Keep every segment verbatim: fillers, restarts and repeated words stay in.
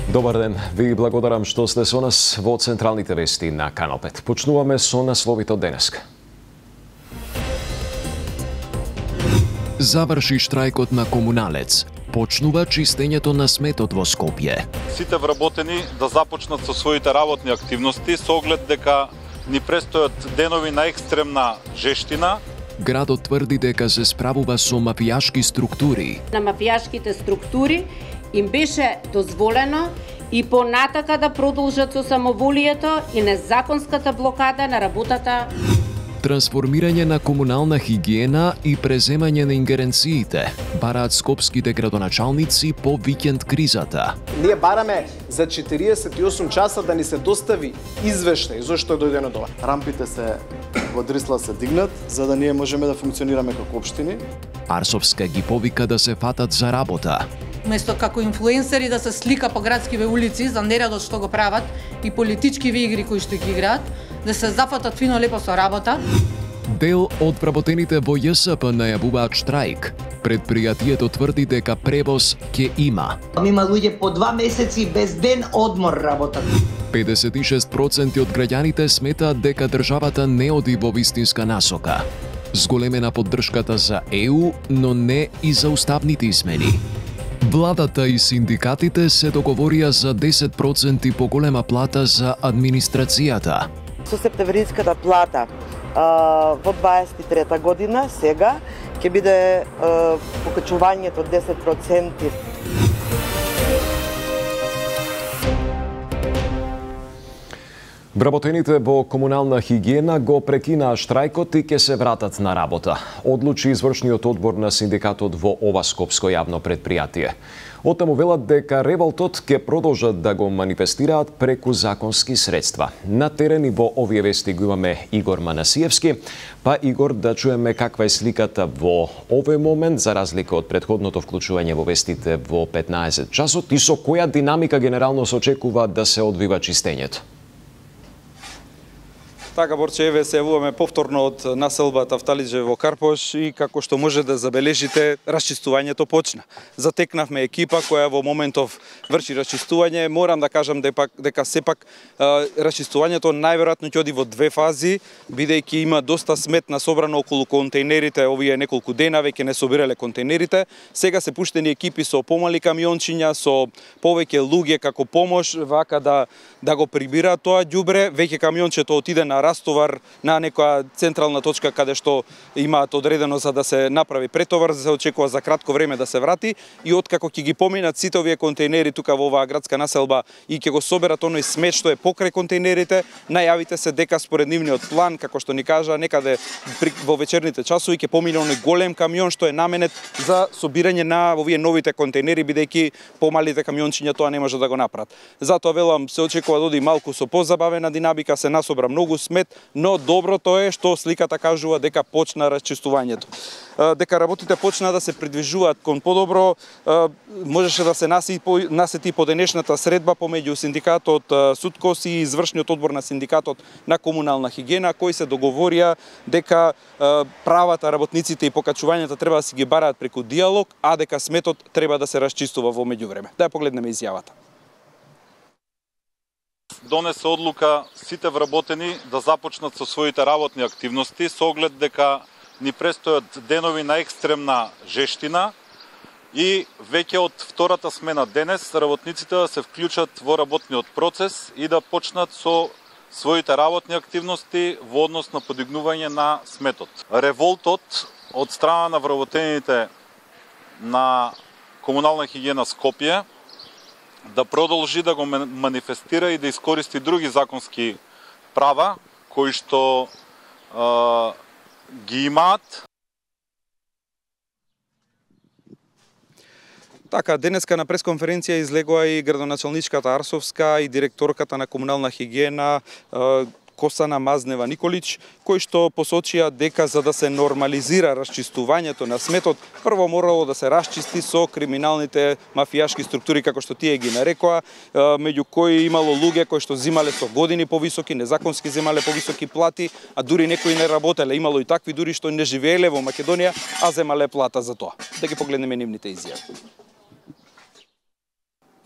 Добар ден, ви благодарам што сте со нас во централните вести на Канал пет. Почнуваме со насловите од денеска. Заврши штрајкот на комуналец. Почнува чистењето на сметот во Скопје. Сите вработени да започнат со своите работни активности со оглед дека ни престојат денови на екстремна жештина. Градот тврди дека се справува со мафијашки структури. На мафијашките структури им беше дозволено и понатака да продолжат со самоволието и незаконската блокада на работата. Трансформирање на комунална хигиена и преземање на ингеренциите бараат скопските градоначалници по викенд кризата. Ние бараме за четириесет и осум часа да ни се достави извештај зошто е дојдено до ова. Рампите се во Дрисла се дигнат за да ние можеме да функционираме како општини. Арсовска ги повика да се фатат за работа. Место како инфлуенсери да се слика по градскиве улици за нередот што го прават и политичкиви игри кои што ги играат, да се зафатат фино лепо со работа. Дел од вработените во Ј С П најавуваат штрајк. Предпријатието тврди дека превоз ќе има. Има луѓе по два месеци без ден одмор работат. педесет и шест проценти од граѓаните сметаат дека државата не оди во вистинска насока. Зголемена поддршката за Е У, но не и за уставните измени. Владата и синдикатите се договорија за десет проценти поголема плата за администрацијата. Со септемвриската плата а, во дваесет и трета година, сега, ќе биде а, покачувањето од десет проценти. Вработените во комунална хигиена го прекинаа штрајкот и ќе се вратат на работа, одлучи извршниот одбор на синдикатот во ова скопско јавно предпријатие. Оттаму велат дека револтот ќе продолжат да го манифестираат преку законски средства. На терен и во овие вести го имаме Игор Манасиевски. Па Игор, да чуеме каква е сликата во овој момент за разлика од претходното вклучување во вестите во петнаесет часот и со која динамика генерално се очекува да се одвива чистењето. Така, Борче, еве се јавуваме повторно од населба Тафталиџе во Карпош и како што може да забележите, расчистувањето почна. Затекнавме екипа која во моментов врши расчистување. Морам да кажам дека, дека сепак расчистувањето најверојатно ќе оди во две фази, бидејќи има доста смет насобрано околу контейнерите, овие неколку дена веќе не собирале контейнерите. Сега се пуштени екипи со помали камиончиња, со повеќе луѓе како помош, вака да да го прибираат тоа ѓубре. Веќе камиончето отиде на растовар на некоја централна точка каде што имаат одредено за да се направи претовар, за да се очекува за кратко време да се врати и откако ќе ги поминат сите овие контейнери тука во оваа градска населба и ќе го соберат оној смет што е покрај контейнерите, најавите се дека според нивниот план, како што ни кажа, некаде во вечерните часови ќе помине оној голем камион што е наменет за собирање на овие новите контейнери, бидејќи помалите камиончиња тоа не може да го направат. Затоа велам се очекува да оди малку со позабавена динамика, се насобра многу смет, но доброто е што сликата кажува дека почна расчистувањето. Дека работите почна да се придвижуваат кон подобро, можеше да се насети по денешната средба помеѓу синдикатот Суткос и извршниот одбор на синдикатот на комунална хигиена, кои се договорија дека правата работниците и покачувањата треба да си ги бараат преку диалог, а дека сметот треба да се расчистува во меѓувреме. Да ја погледнеме изјавата. Донесе одлука сите вработени да започнат со своите работни активности со оглед дека ни престојат денови на екстремна жештина и веќе од втората смена денес работниците да се вклучат во работниот процес и да почнат со своите работни активности во однос на подигнување на сметот. Револтот од страна на вработените на комунална хигиена Скопје да продолжи да го манифестира и да искористи други законски права кои што е, ги имаат. Така, денеска на пресконференција излегоа и градоначалничката Арсовска и директорката на комунална хигиена Косана Мазнева Николич, кои што посочија дека за да се нормализира расчистувањето на сметот, прво морало да се расчисти со криминалните мафијашки структури, како што тие ги нарекоа, меѓу кои имало луѓе кои што земале со години повисоки, незаконски земале повисоки плати, а дури некои не работеле. Имало и такви дури што не живееле во Македонија, а земале плата за тоа. Да ги погледнеме нивните изјави.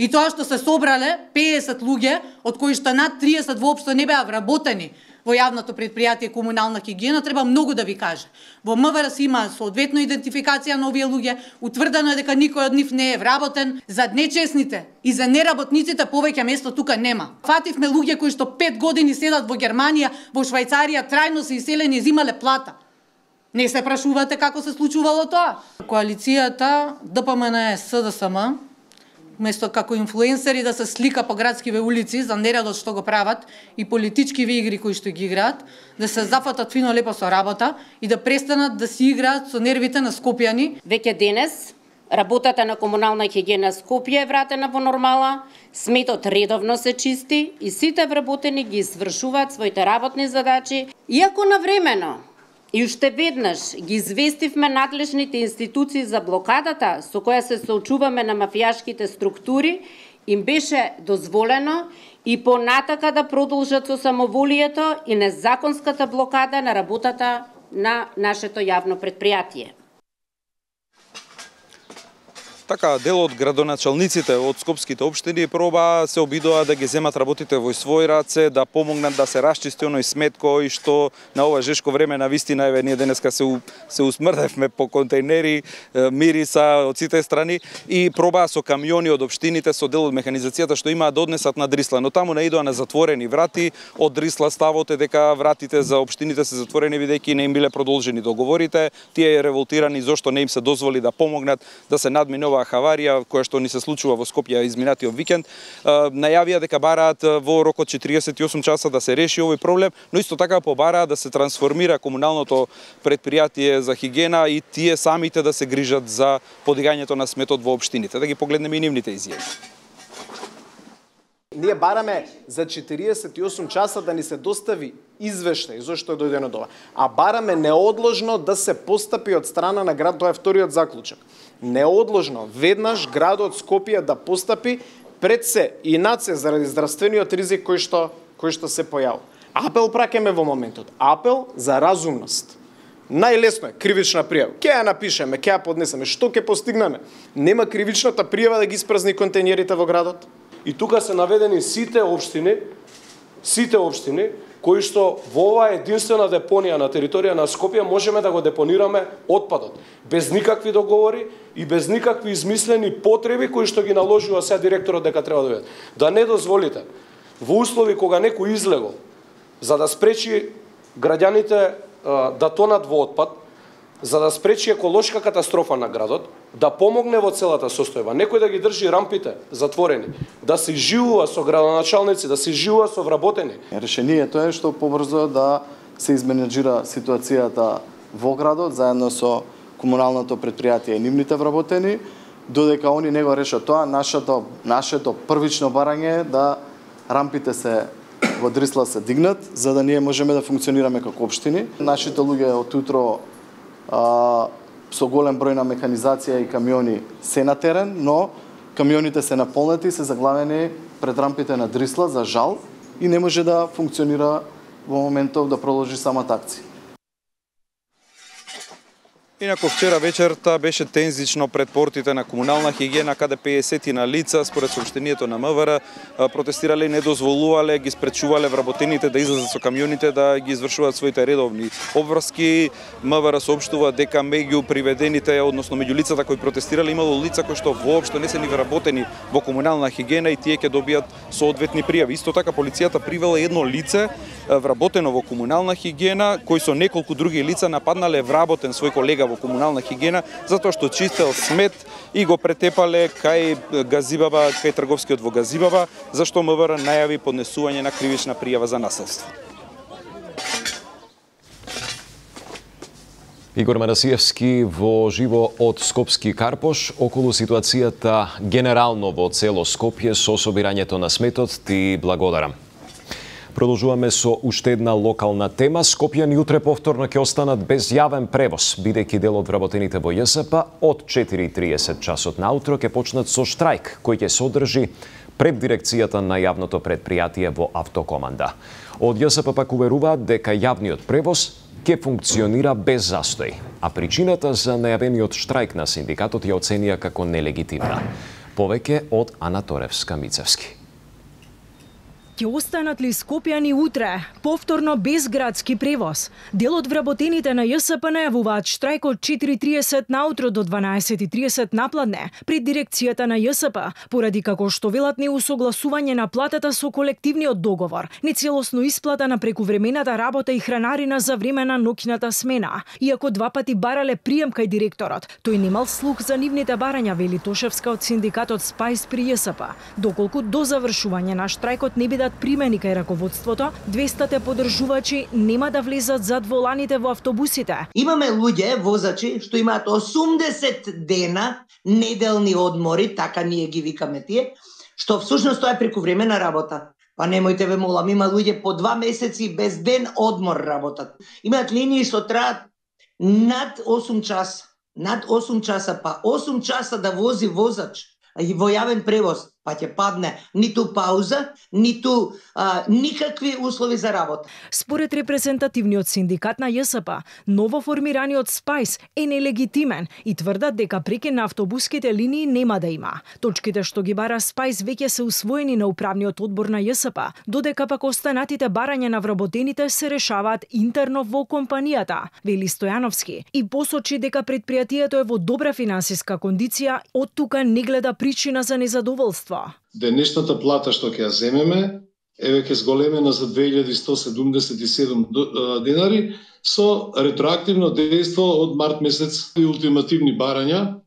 И тоа што се собрале педесет луѓе, од кои што над триесет воопшто не беа вработени во јавното предпријатие комунална хигиена, треба многу да ви каже. Во МВР се има соодветно идентификација на овие луѓе, утврдено е дека никој од нив не е вработен. За нечесните и за неработниците повеќе место тука нема. Фативме луѓе кои што пет години седат во Германија, во Швајцарија, трајно се иселени и земале плата. Не се прашувате како се случувало тоа? Коалицијата ДПМН СДСМ место како инфлуенсери да се слика по градскиве улици за нередот што го прават и политичкиве игри кои што ги играат, да се зафатат фино лепо со работа и да престанат да си играат со нервите на скопјани. Веќе денес работата на комунална хигиена Скопје е вратена во нормала, сметот редовно се чисти и сите вработени ги извршуваат своите работни задачи, иако навремено. И уште веднаш ги известивме надлежните институции за блокадата со која се соочуваме на мафијашките структури, им беше дозволено и понатака да продолжат со самоволието и незаконската блокада на работата на нашето јавно предпријатие. Така, дел од градоначалниците од скопските општини проба се обидоа да ги земат работите во своји раце, да помогнат да се расчисти оној смет кој што на ова жешко време на вистина еве ние денеска се у, се усмрдевме по контейнери, мириса од сите страни и пробаа со камиони од општините со дел од механизацијата што имаат да однесат на Дрисла, но таму наидоа на затворени врати. Од Дрисла ставот е дека вратите за општините се затворени бидејќи не им биле продолжени договорите. Тие е револтирани зошто не им се дозволи да помогнат да се надминува хаварија која што ни се случува во Скопје изминатиот викенд. Најавија дека бараат во рок од четириесет и осум часа да се реши овој проблем, но исто така побараа да се трансформира комуналното предпријатие за хигиена и тие самите да се грижат за подигањето на сметот во општините. Да ги погледнеме и нивните изјави. Ние бараме за четириесет и осум часа да ни се достави извештај зошто е дојдено до ова. А бараме неодложно да се постапи од страна на град, тоа е вториот заклучок. Неодложно, веднаш градот Скопје да постапи пред се и над се заради здравствениот ризик кој што, кој што се појавил. Апел праќаме во моментот. Апел за разумност. Најлесно е кривична пријава. Ке ја напишеме, ке ја поднесеме, што ќе постигнеме? Нема кривичната пријава да ги испразни контейнерите во градот? И тука се наведени сите општини, сите општини кои што во оваа единствена депонија на територија на Скопје можеме да го депонираме отпадот без никакви договори и без никакви измислени потреби кои што ги наложува сега директорот дека треба да дојде. Да не дозволите во услови кога некој излегол за да спречи граѓаните да тонат во отпад, за да спречи еколошка катастрофа на градот, да помогне во целата состојба. Некој да ги држи рампите затворени, да се живува со градоначалници, да се живува со вработени. Решението е што побрзо да се изменеджира ситуацијата во градот заедно со комуналното предпријатие и нивните вработени, додека они не го решат тоа, нашето нашето првично барање е да рампите се во Дрисла се дигнат, за да ние можеме да функционираме како општини. Нашите луѓе од утро а, со голем број на механизација и камиони се на терен, но камионите се наполнети и се заглавени пред рампите на Дрисла, за жал, и не може да функционира во моментов да продолжи самата акција. Инаку вчера вечерта беше тензично пред портите на комунална хигиена, каде педесет на лица, според соопштението на МВР, протестирале и не дозволувале, ги спречувале вработените да излезат со камионите да ги извршуваат своите редовни обврски. МВР соопштува дека меѓу приведените, односно меѓу лицата кои протестирале, имало лица кои што воопшто не се ни вработени во комунална хигиена и тие ќе добијат соодветни пријави. Исто така полицијата привела едно лице вработено во комунална хигиена, кој со неколку други лица нападнале вработен свој колега во комунална хигиена затоа што чистел смет и го претепале кај Газибаба, кај трговскиот во Газибаба, зашто МВР најави поднесување на кривична пријава за насилство. Игор Манасиевски во живо од Скопски Карпош околу ситуацијата генерално во цело Скопје со собирањето на сметот. Ти благодарам. Продолжуваме со уште една локална тема. Скопјани утре повторно ќе останат без јавен превоз, бидејќи дел од вработените во ЈСП од четири и триесет часот наутро ќе почнат со штрајк, кој ќе се одржи пред дирекцијата на јавното предпријатие во Автокоманда. Од ЈСП пак уверуваат дека јавниот превоз ќе функционира без застој, а причината за најавениот штрајк на синдикатот ја оценија како нелегитимна. Повеќе од Ана Торевска-Мицевски. Ќе останат ли Скопјани утре? Повторно без градски превоз. Дел од вработените на Ја С П најавуваат штрајк од четири и триесет наутро до дванаесет и триесет напладне пред дирекцијата на Ја С П, поради како што велат неусогласување на платата со колективниот договор, нецелосно исплата на прекувремената работа и хранарина за време на ноќната смена. Иако два пати барале прием кај директорот, тој немал слух за нивните барања, вели Тошевска од синдикатот Спајс при Ја С П. Доколку до завршување на штрајкот не бидат примени кај раководството, двеста поддржувачи нема да влезат зад воланите во автобусите. Имаме луѓе, возачи, што имаат осумдесет дена неделни одмори, така ние ги викаме тие, што всушност тоа е прекувремена работа. Па немојте ве молам, има луѓе по два месеци без ден одмор работат. Имаат линии што траат над осум часа, над осум часа, па осум часа да вози возач и во јавен превоз, па ќе падне ниту пауза, ниту а, никакви услови за работа. Според репрезентативниот синдикат на Ја С П, новоформираниот Спајс е нелегитимен и тврдат дека преки на автобуските линии нема да има. Точките што ги бара Спајс веќе се усвоени на управниот одбор на Ја С П, додека пак останатите барања на вработените се решаваат интерно во компанијата, вели Стојановски, и посочи дека предпријатието е во добра финансиска кондиција, од тука не гледа причина за незадоволство. Денешната плата што ќе ја земеме е веќе зголемена за две илјади сто седумдесет и седум денари со ретроактивно дејство од март месец и ултимативни барања,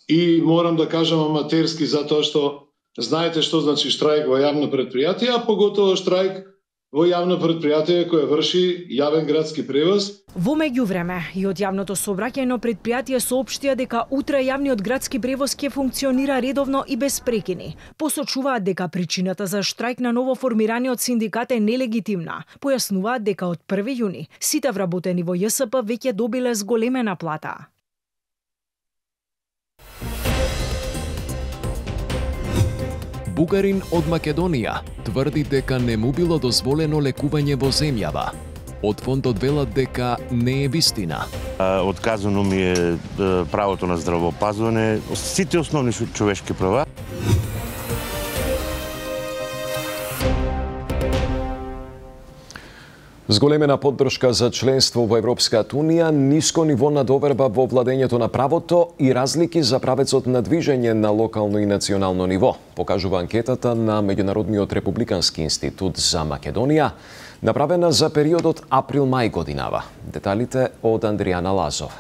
и морам да кажам аматерски затоа што знаете што значи штрајк во јавно предпријатие, а поготово штрајк во јавно предпријатие кое врши јавен градски превоз. Во меѓувреме, и од јавното сообраќајно предпријатие соопштија дека утре јавниот градски превоз ќе функционира редовно и без прекини. Посочуваат дека причината за штрајк на новоформираниот синдикат е нелегитимна. Појаснуваат дека од први јуни сите вработени во Ја С П веќе добиле зголемена плата. Бугарин од Македонија тврди дека не му било дозволено лекување во земјава. Од фондот велат дека не е вистина. Отказано ми е правото на здравоопазване, сите основни човешки права. Зголемена поддршка за членство во Европската Унија, ниско ниво на доверба во владењето на правото и разлики за правецот на движење на локално и национално ниво, покажува анкетата на Меѓународниот републикански институт за Македонија, направена за периодот април-мај годинава. Деталите од Андријана Лазов.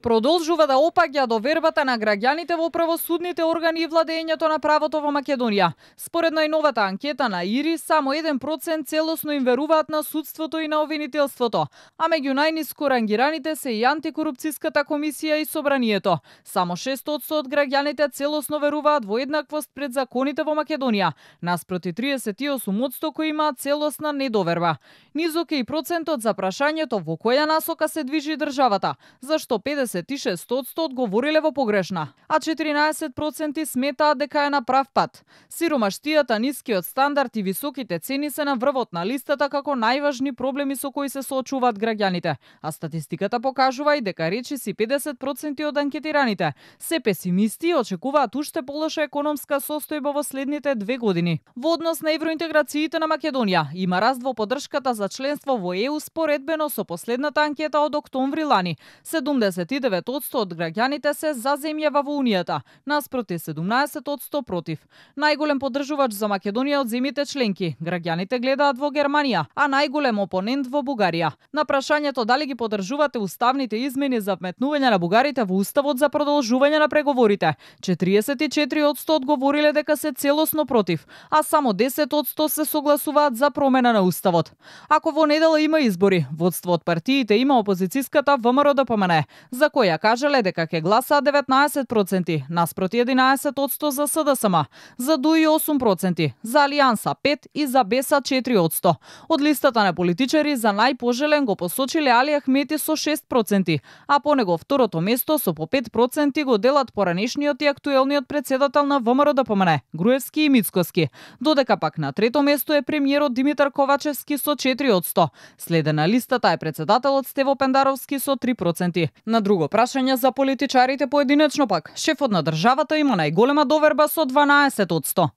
Продолжува да опаѓа довербата на граѓаните во правосудните органи и владењето на правото во Македонија. Според најновата анкета на ИРИ, само еден процент целосно им веруваат на судството и на обвинителството, а меѓу најниско рангираните се и антикорупцијската комисија и собранието. Само шест одсто од граѓаните целосно веруваат во еднаквост пред законите во Македонија, наспроти триесет и осум одсто кои имаат целосна недоверба. Низок е и процентот за прашањето во која насока се движи државата, зашто педесет и шест одсто одговориле во погрешна, а четиринаесет проценти сметаат дека е на прав пат. Сиромаштијата, нискиот стандард и високите цени се на врвот на листата како најважни проблеми со кои се соочуваат граѓаните, а статистиката покажува и дека речиси педесет проценти од анкетираните се песимисти и очекуваат уште полоша економска состојба во следните две години. Во однос на евроинтеграциите на Македонија има раст во поддршката за членство во Е У споредбено со последната анкета од октомври лани. седумдесет и девет одсто од граѓаните се за земјава во Унијата, наспроти седумнаесет одсто против. Најголем поддржувач за Македонија од земјите членки, граѓаните гледаат во Германија, а најголем опонент во Бугарија. На прашањето дали ги поддржувате уставните измени за вметнување на бугарите во уставот за продолжување на преговорите, четириесет и четири одсто одговориле дека се целосно против, а само десет одсто се согласуваат за промена на уставот. Ако во недела има избори, водство од партиите има опозицијската В М Р Д П М Н, за која кажале дека ќе гласаат деветнаесет проценти, наспроти единаесет одсто за С Д С М, за Д У И осум проценти, за Алијанса пет и за Б Е С четири одсто. Од листата на политичари за најпожелен го посочиле Али Ахмети со шест проценти, а по него второто место со по пет проценти го делат поранешниот и актуелниот председател на В М Р Д П М Н, Груевски и Мицкоски, додека пак на трето место е премиерот Димитар Ковачевски со четири одсто. Следен на листата е председателот Стево Пендаровски со три проценти. На Друго прашање за политичарите поединечно пак. Шефот на државата има најголема доверба со дванаесет одсто.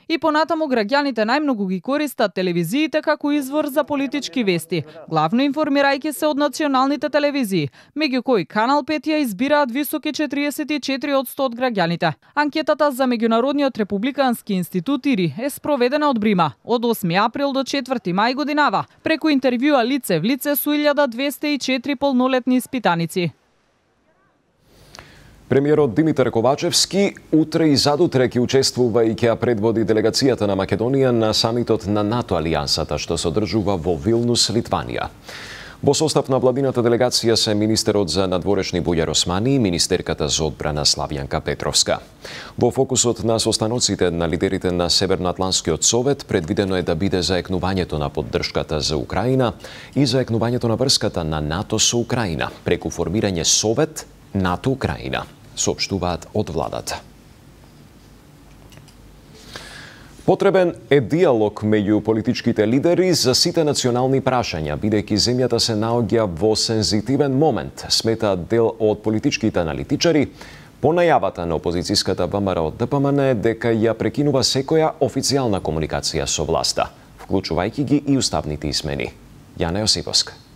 И понатаму граѓаните најмногу ги користат телевизиите како извор за политички вести, главно информирајќи се од националните телевизии, меѓу кои Канал пет ја избираат високи четириесет и четири одсто од граѓаните. Анкетата за Меѓународниот републикански институт ИРИ е спроведена од Брима од осми април до четврти мај годинава, преку интервјуа лице в лице со илјада двесте и четири полнолетни испитаници. Премиерот Димитар Ковачевски утре и задутре ќе учествува и ќе предводи делегацијата на Македонија на самитот на НАТО алијансата што се одржува во Вилнус, Литванија. Во состав на владината делегација се министерот за надворешни Бујар Османи и министерката за одбрана Славјанка Петровска. Во фокусот на состаноците на лидерите на Северноатлантскиот совет предвидено е да биде заекнувањето на поддршката за Украина и заекнувањето на врската на НАТО со Украина преку формирање Совет НАТО Украина, соопштуваат од владата. Потребен е диалог меѓу политичките лидери за сите национални прашања, бидејќи земјата се наоѓа во сензитивен момент, сметаат дел од политичките аналитичари, по најавата на опозицијската ВМРО ДПМН дека ја прекинува секоја официјална комуникација со власта, вклучувајќи ги и уставните измени. Јана Јосиповска.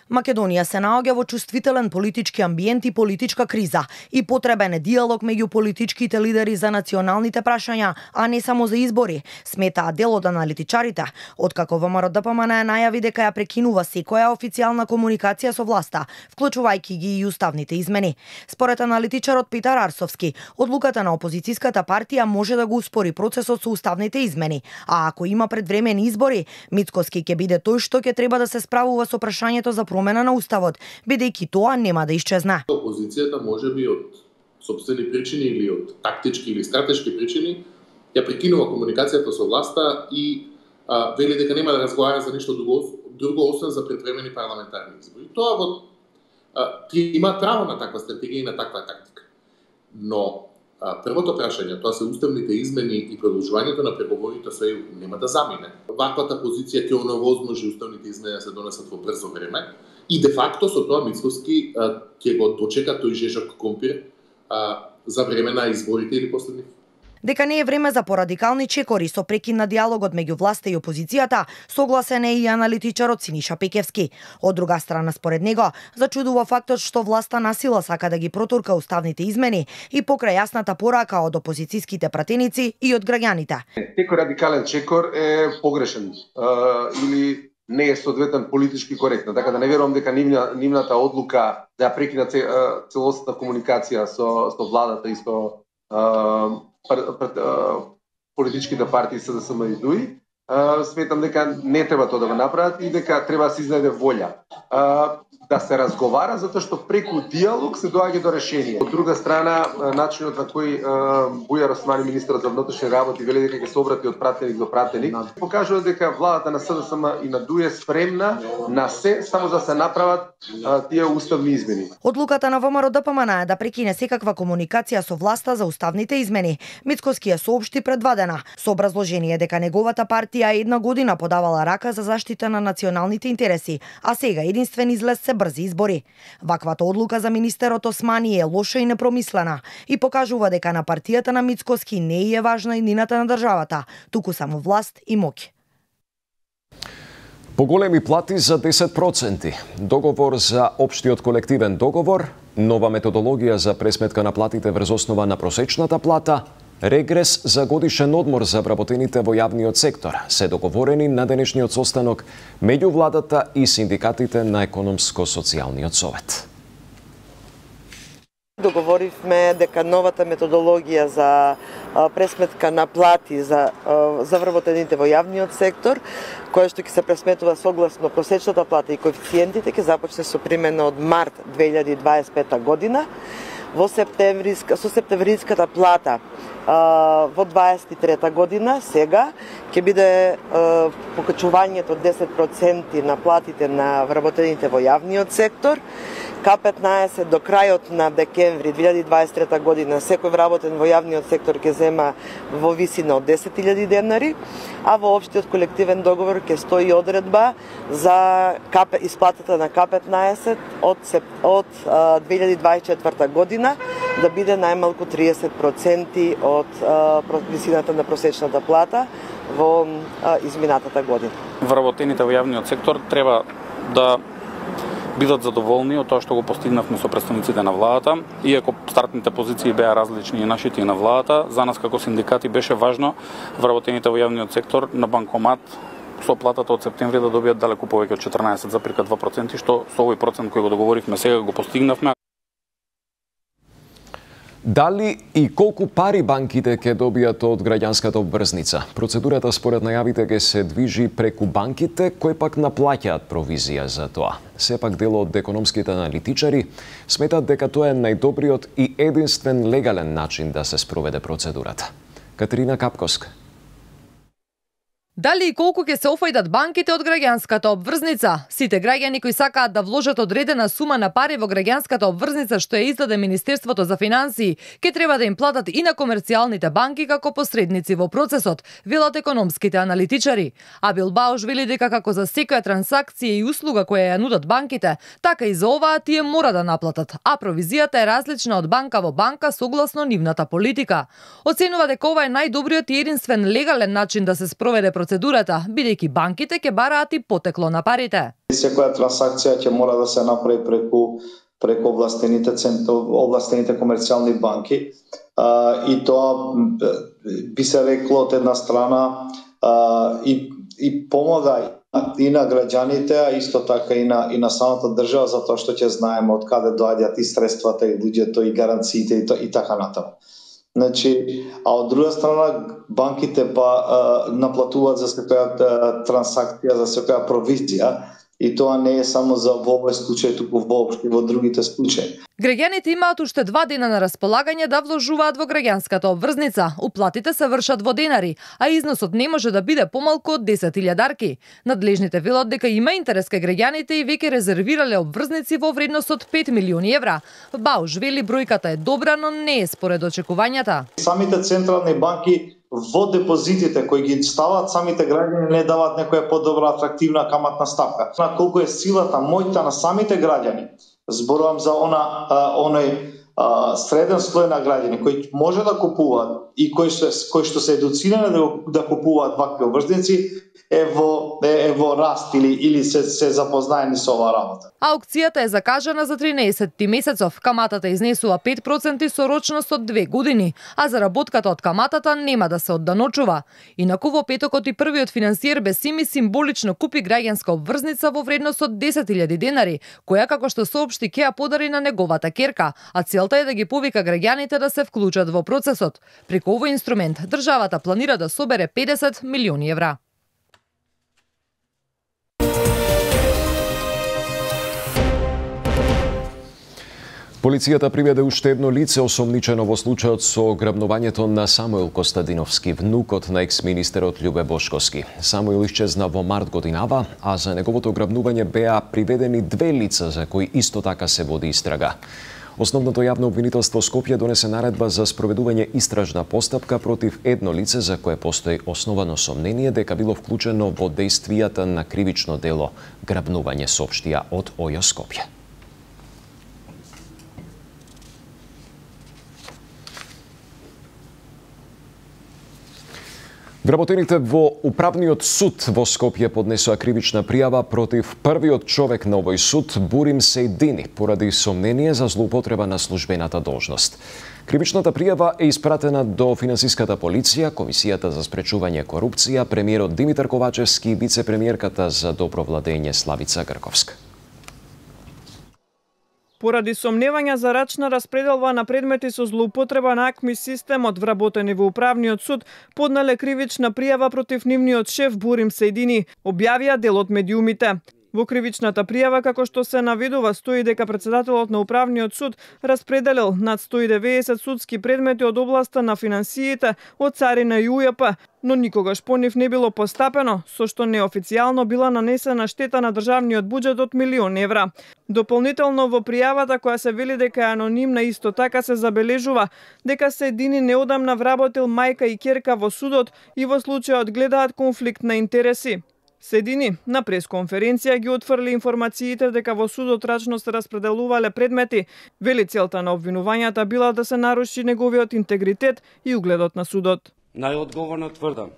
Македонија се наоѓа во чувствителен политички амбиент и политичка криза и потребен е диалог меѓу политичките лидери за националните прашања, а не само за избори, сметаат дел од аналитичарите, откако ВМРО ДПМН најави дека ја прекинува секоја официјална комуникација со власта, вклучувајќи ги и уставните измени. Според аналитичарот Петар Арсовски, одлуката на опозицијската партија може да го успори процесот со уставните измени, а ако има предвремени избори, Мицкоски ќе биде тој што ќе треба да се справува со прашањето за промена на уставот, бидејќи тоа нема да исчезне. Опозицијата можеби од сопствени причини или од тактички или стратешки причини ја прекинува комуникацијата со власта и а, вели дека нема да разговара за ништо друго, друго освен за предвремени парламентарни избори. Тоа во ти има право на таква стратегија и на таква тактика. Но а, првото прашање, тоа се уставните измени и продолжувањето на преговорите со ЕУ нема да замине. Ваквата позиција ќе оневозможи уставните измени да се донесат во брзо време и де факто со тоа Мицкоски ќе го дочека тој жежок компир а, за време на изборите или после нив. Дека не е време за порадикални чекори со прекин на диалогот меѓу власта и опозицијата, согласен е и аналитичарот Синиша Пекевски. Од друга страна, според него, зачудува фактот што власта насила сака да ги протурка уставните измени и покрај јасната порака од опозицијските пратеници и од граѓаните. Секој радикален чекор е погрешен а, или не е соодветен политички коректно, така да не верувам дека нивна, нивната одлука да ја прекина целосната комуникација со, со владата и со а, политичките партии СДСМ и ДУИ, сметам дека не треба тоа да го направат и дека треба да се изнајде волја да се разговара, затоа што преку диалог се доаѓа до решение. Од друга страна, начинот на кој Бујар Османи, министерот за внатрешни работи, вели дека ќе се обрати од пратеник до пратеник, покажува дека владата на СДСМ и на ДУИ е спремна на се, само за да се направат тие уставни измени. Одлуката на ВМРО ДПМН е да прекине секаква комуникација со власта за уставните измени. Мицкоски ја соопшти предвадена, со образложение дека неговата партија една година подавала рака за заштита на националните интереси, а сега единствен излез се брзи избори. Ваквата одлука за министерот Османи е лоша и непромислена и покажува дека на партијата на Мицкоски не е важна иднината на државата, туку само власт и моќ. Поголеми плати за десет проценти, договор за општиот колективен договор, нова методологија за пресметка на платите врз основа на просечната плата, регрес за годишен одмор за вработените во јавниот сектор се договорени на денешниот состанок меѓу владата и синдикатите на Економско-социјалниот совет. Договоривме дека новата методологија за пресметка на плати за, за вработените во јавниот сектор, која што ќе се пресметува согласно просечната плата и коефициентите, ќе започне со примена од март две илјади дваесет и пета година. Во септемвриска, со септемвриската плата во дваесет и трета година, сега, ќе биде покачувањето од десет проценти на платите на вработените во јавниот сектор. Ка петнаесет до крајот на декември две илјади дваесет и трета година секој вработен во јавниот сектор ќе зема во висина од десет илјади денари, а во општиот колективен договор ќе стои одредба за исплатата на Ка петнаесет од, од две илјади дваесет и четврта година да биде најмалку триесет проценти од а, висината на просечната плата во а, изминатата година. Вработените во јавниот сектор треба да бидат задоволни од тоа што го постигнавме со представниците на владата, иако стартните позиции беа различни и нашите и на владата, за нас како синдикати беше важно вработените во јавниот сектор на банкомат со платата од септември да добијат далеку повеќе од четрнаесет запирка два проценти, што со овој процент кој го договоривме сега го постигнавме. Дали и колку пари банките ќе добијат од граѓанската обврзница? Процедурата според најавите ќе се движи преку банките, кои пак наплаќаат провизија за тоа. Сепак дел од економските аналитичари сметат дека тоа е најдобриот и единствен легален начин да се спроведе процедурата. Катерина Капковска. Дали и колку ќе се офајдат банките од граѓанската обврзница? Сите граѓани кои сакаат да вложат одредена сума на пари во граѓанската обврзница што ја издаде Министерството за финансии, ќе треба да им платат и на комерцијалните банки како посредници во процесот, велат економските аналитичари. А Билбауш вели дека како за секоја трансакција и услуга која ја нудат банките, така и за оваа тие мора да наплатат, а провизијата е различна од банка во банка согласно нивната политика. Оценува дека ова е најдобриот и единствен легален начин да се спроведе процедурата, бидејќи банките ќе бараат и потекло на парите. Секоја трансакција ќе мора да се направи преку преку овластените овластените комерцијални банки, а, и тоа би се рекло од една страна а, и и помага и на граѓаните, а исто така и на и на самата држава, затоа што ќе знаеме од каде доаѓаат и средствата и луѓето и гаранциите и, и така натаму. Значи, а од друга страна банките па а, наплатуваат за секоја трансакција, за секоја провизија, и тоа не е само за во овој случај, туку воопшто во другите случаи. Граѓаните имаат уште два дена на располагање да вложуваат во граѓанската обврзница. Уплатите се вршат во денари, а износот не може да биде помалку од десет илјадарки. Надлежните велат дека има интерес кај граѓаните и веќе резервирале обврзници во вредност од пет милиони евра. Бауш вели бројката е добра, но не е според очекувањата. Самите централни банки во депозитите кои ги стават самите граѓани не даваат некоја подобра атрактивна каматна ставка. На колку е силата, мојта на самите граѓани, зборувам за она а, оној а, среден слој на граѓани кои може да купуваат и кои што кои што се едуцирани да, да купуваат вакви обврзници, е во е, е во раст или или се се запознаени со оваа работа. Аукцијата е закажана за тринаесетти месецов. Каматата изнесува пет проценти со рочност од две години, а заработката од каматата нема да се одданочува. Инаку во петокот и првиот финансиер Бесими символично купи граѓанска обврзница во вредност од десет илјади денари, која како што соопшти ќе ја подари на неговата ќерка, а целта е да ги повика граѓаните да се вклучат во процесот. Преку овој инструмент државата планира да собере педесет милиони евра. Полицијата приведе уште едно лице осомничено во случајот со грабнувањето на Самуил Костадиновски, внукот на екс-министерот Љубе Бошковски. Самуил исчезна во март годинава, а за неговото грабнување беа приведени две лица за кои исто така се води истрага. Основното јавно обвинителство Скопје донесе наредба за спроведување истражна постапка против едно лице за кое постои основано сомнение дека било вклучено во дејствијата на кривично дело грабнување, соопштија од ОЈО Скопје. Вработените во Управниот суд во Скопје поднесоа кривична пријава против првиот човек на овој суд, Бурим Сејдини, поради сомнение за злоупотреба на службената должност. Кривичната пријава е испратена до Финансиската полиција, Комисијата за спречување корупција, премиерот Димитар Ковачевски и вице-премиерката за добро владење Славица Грковска. Поради сомневања за рачна распределба на предмети со злоупотреба на АКМИ системот, вработени во Управниот суд поднале кривична пријава против нивниот шеф Бурим Сејдини, објавија делот медиумите. Во кривичната пријава, како што се наведува, стои дека председателот на Управниот суд распределил над сто и деветдесет судски предмети од областа на финансиите, од царина и У Ј П, но никогаш по нив не било постапено, со што неофицијално била нанесена штета на државниот буџет од милион евра. Дополнително во пријавата, која се вели дека е анонимна, исто така се забележува дека Седини неодамна вработил мајка и ќерка во судот и во случајот гледаат конфликт на интереси. Седини на пресконференција ги отфрли информациите дека во судот рачно се распределувале предмети. Вели целта на обвинувањата била да се наруши неговиот интегритет и угледот на судот. Најодговорно тврдам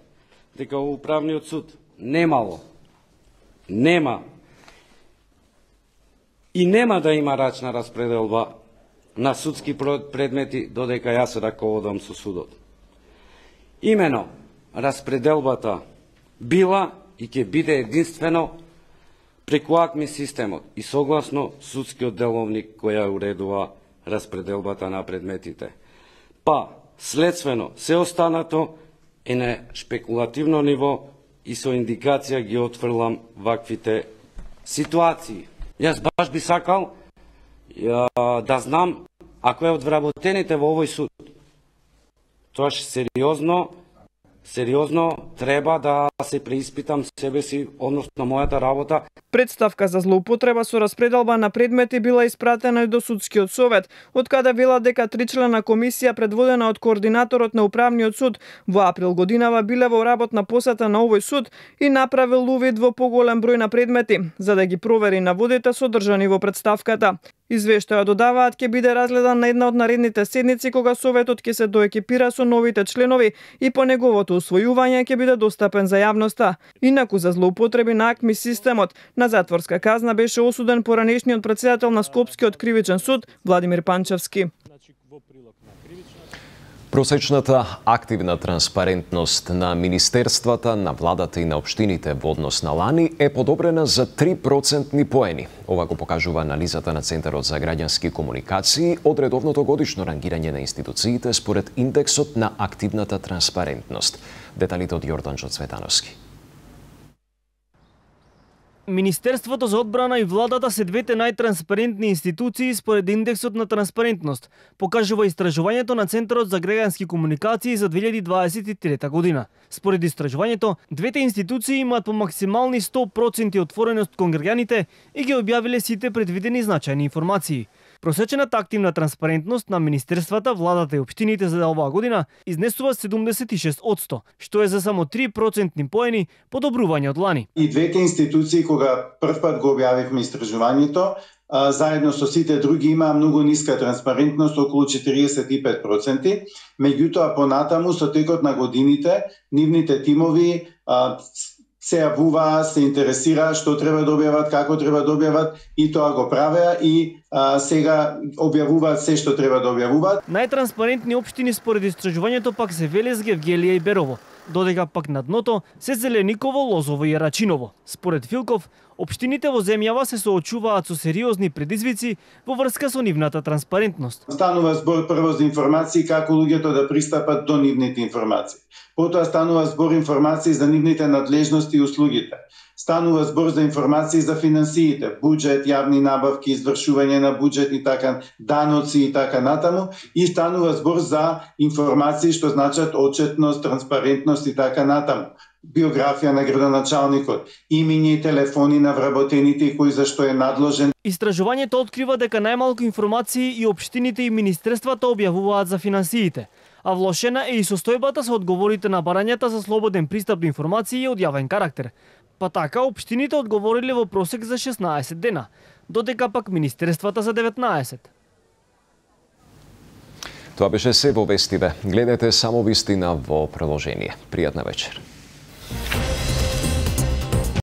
дека во Управниот суд немало, нема и нема да има рачна распределба на судски предмети додека јас се раководам со судот. Имено распределбата била и ќе биде единствено преку АКМИ системот и согласно судскиот деловник која уредува распределбата на предметите. Па, следствено, се останато е на шпекулативно ниво и со индикација ги отфрлам ваквите ситуации. Јас баш би сакал ја, да знам ако е од вработените во овој суд. Тоа сериозно Сериозно треба да се преиспитам себе си, односно мојата работа. Представка за злоупотреба со распределба на предмети била испратена и до судскиот совет, од каде вела дека тричлена комисија предводена од координаторот на Управниот суд во април годинава биле во работна посета на овој суд и направил увид во поголем број на предмети, за да ги провери наводите содржани во представката. Извештајот додаваат ќе биде разгледан на една од наредните седници кога советот ќе се доекипира со новите членови и по неговото усвојување ќе биде достапен за јавноста. Инаку за злоупотреби на АКМИ системот на затворска казна беше осуден поранешниот председател на Скопскиот кривичен суд Владимир Панчевски. Просечната активна транспарентност на министерствата, на владата и на општините во однос на лани е подобрена за три процентни поени. Ова го покажува анализата на Центарот за граѓански комуникации од редовното годишно рангирање на институциите според индексот на активната транспарентност. Деталите од Јорданчо Цветановски. Министерството за одбрана и владата се двете најтранспарентни институции според индексот на транспарентност, покажува истражувањето на Центарот за граѓански комуникации за две илјади дваесет и трета година. Според истражувањето, двете институции имаат по максимални сто проценти отвореност кон граѓаните и ги објавиле сите предвидени значајни информации. Просечената активна транспарентност на министерствата, владата и општините за оваа година изнесува седумдесет и шест одсто, што е за само три процентни поени подобрување од лани. И двете институции, кога првпат го објавивме истражувањето, заедно со сите други имаа многу ниска транспарентност, околу четириесет и пет проценти. Меѓутоа, понатаму, со текот на годините, нивните тимови се јавуваа, се интересираа што треба да објават, како треба да објават и тоа го правеа и а, сега објавуваат се што треба да објавуваат. Најтранспарентни општини според истражувањето пак се Велес, Гевгелија и Берово, додека пак на дното се Зелениково, Лозово и Рачиново. Според Филков, општините во земјава се соочуваат со сериозни предизвици во врска со нивната транспарентност. Станува збор прво за информации како луѓето да пристапат до нивните информации. Потоа станува збор информации за нивните надлежности и услугите. Станува збор за информации за финансиите, буџет, јавни набавки, извршување на буџет и така, даноци и така натаму, и станува збор за информации што значат отчетност, транспарентност и така натаму. Биографија на градоначалникот, имиња и телефони на вработените и кој зашто е надложен. Истражувањето открива дека најмалку информации и општините и министерствата објавуваат за финансиите, а влошена е и состојбата со одговорите на барањата за слободен пристап до информации од јавен карактер. Па така, општините одговориле во просек за шеснаесет дена, додека пак министерствата за деветнаесет. Тоа беше се во вестиве. Гледате само вистина во приложение. Пријатна вечер.